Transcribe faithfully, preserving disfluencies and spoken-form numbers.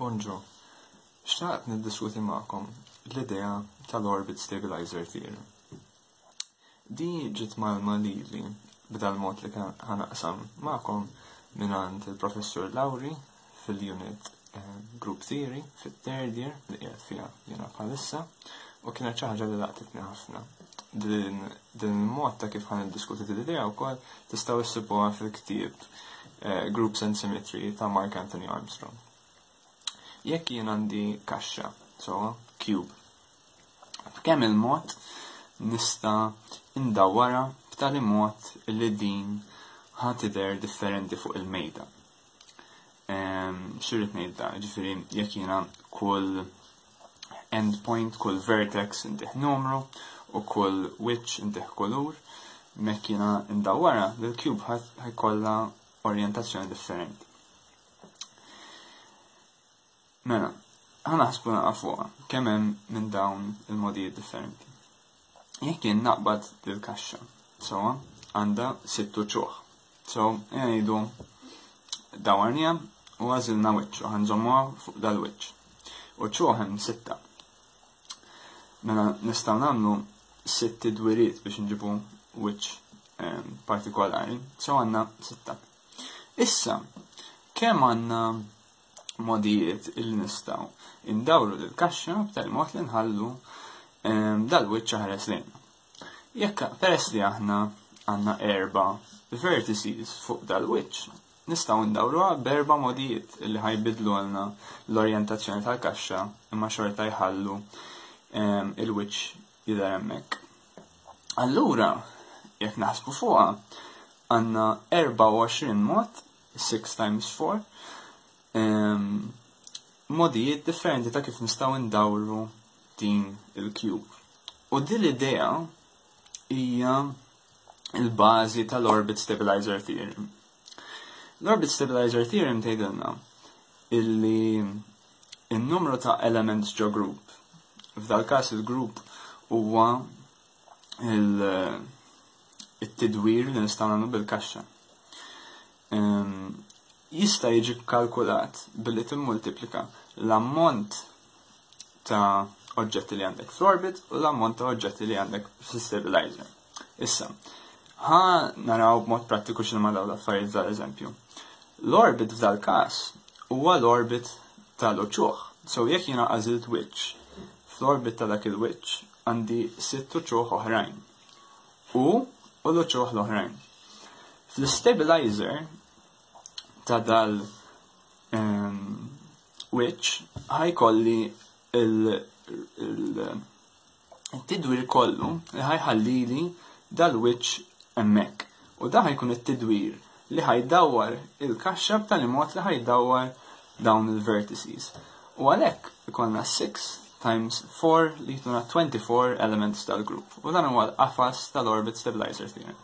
Bonġu. Xtaqt niddiskuti magħkom l-idea tal-Orbit Stabilizer Theorem. Di ġiet mgħallma lili b'dal-mod li ħa naqsam magħkom mingħand il-Professur Lauri fil-unit eh, Group Theory fit-third year li qiegħed fiha jiena bħalissa u kienet xi ħaġa li laqtitni ħafna. Din il-mod ta' kif ħa niddiskuti l-idea wkoll tistgħu issibuha fil-ktieb eh, Groups and Symmetry ta' Mark Anthony Armstrong. Jekk jien għandi kaxxa, so cube, b'kemm il-mod nista' indawwarha b'tali mod li din ħa tidher differenti fuq il-mejda. X'irrid ngħid da, ġifieri jekk jiena kull endpoint, kull vertex intih numru u kull wiċċ intih kulur, mekk jiena ndawwarha, l-cube ħa jkollha orjentazzjoni differenti. Mela, ħa naħsbu naqa fuqha, kemm hemm minn dawn il-modijiet differenti. Jekk jien naqbad dil-kaxxa, so għandha sitt uċuħ. So, ngħidu dawarniha u għażilna wiċċ u ħa nżommuha fuq dal-wiċċ. Uċuħ hemm sitta. Mela nistgħu nagħmlu sitt tidwiriet biex nġibu wiċċ ehm, partikolari. So għandna sitta. Issa, kemm għandna modijiet illi nistgħu indawru l-kaxxa b'tal mod li nħallu ehm, dal-wiċċ ħares lejna. Jekk peress li aħna għandna erba vertices fuq dal-wiċċ, nistgħu ndawruha b'erba' modijiet illi ħa jbiddlu għalna l-orjentazzjoni tal-kaxxa imma xorta jħallu ehm, il-wiċċ jidher hemmhekk. Allura, jekk naħsbu fuqha, għandna erbgħa u għoxrin mod, six times four, ehm, modijiet differenti ta' kif nistgħu ndawru din il-cube. U din l-idea hija il-bażi tal-Orbit Stabilizer Theorem. L-Orbit Stabilizer Theorem tgħidilna illi il-numru ta' elements ġo group, f'dal każ il-group huwa il-tidwir li nistgħu nagħmlu bil-kaxxa. Jista' jiġi kalkulat billi timmultiplika l-ammont ta' oġġetti li għandek fl-orbit u l-ammont ta' oġġetti li għandek fl-stabilizer. Issa, ħa naraw b'mod prattiku x'inhuma dawn l-affarijiet dal-eżempju. L-orbit f'dal każ huwa l-orbit tal-uċuħ. So jekk jiena għażilt wiċċ, fl-orbit ta' dak il-wiċċ għandi sitt uċuħ oħrajn. U u l-uċuħ l-oħrajn. Fl-stabilizer ta' dal um, wiċċ ħa jkolli il-tidwir kollu li ħa jħallili dal-wiċċ hemmhekk. U da ħa jkun it-tidwir li ħa jdawwar il-kaxxa b'tali mod li ħa jdawwar dawn il-vertices. U għalhekk ikollna six times four li jtuna twenty-four elements tal-group. U dan huwa l-qafas tal-Orbit Stabilizer Theorem.